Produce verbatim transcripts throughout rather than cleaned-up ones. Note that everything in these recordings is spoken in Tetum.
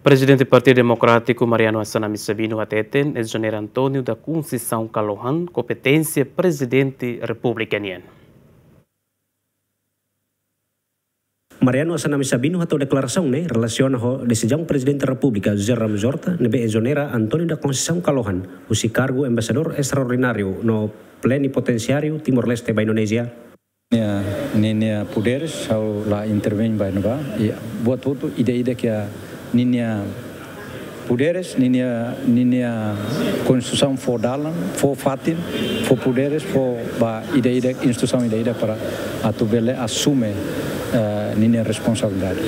Prezidente Partidu Demokrátiku Mariano Assanami Sabino hateten, Ezonera António da Conceição Kalohan kompeténsia Prezidente Repúblika nian. Mariano Assanami Sabino hato'o deklarasaun ne'e relasiona ho desizaun Prezidente Repúblika José Ramos Horta ne'ebé ezonera António da Conceição Kalohan husi kargu Embaixadór Estraordináriu no Plenipotensiáriu Timor-Leste ba Indonézia. Ninia, ninia poderes, ha'u la intervein ba ne'ebá. I buat hotu ida-idak iha ninia poderes, ninia, ninia konstituisaun fó dalan, fó fatin, fó poderes, fó ba ida-idak, instituisaun ida-idak para atu bele asume, eh, ninia responsabilidade.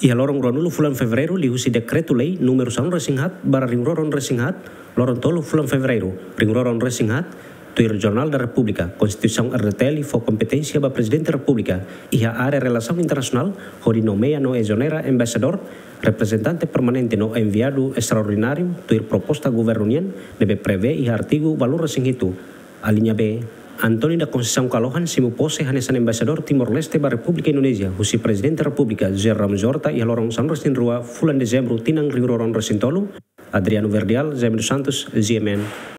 Iha loron ruanulu fulan Fevereiru, liuhusi dekretu-lei númeru sanulu-resin-haat barra rihun rua ruanulu-resin-haat, loron tolu fulan Fevereiru rihun rua ruanulu-resin-haat, tuir Jornál da Repúblika, Konstituisaun R D T L fó kompeténsia ba Prezidente Repúblika iha área relasaun internasionál hodi nomeia no ezonera embaixadór, reprezentante permanente no enviadu estraordináriu, tuir proposta governu nian ne'ebé prevee iha artigu ualunulu-resin-hitu, alínea B. António da Conceição Kalohan simu pose hanesan Embaixadór Timor-Leste ba Repúblika Indonézia husi Prezidente Repúblika José Ramos Horta iha loron sanulu-resin-rua fulan Dezembru tinan rihun rua ruanulu-resin-tolu. Adriano Verdial, Jaime dos Santos, G M N.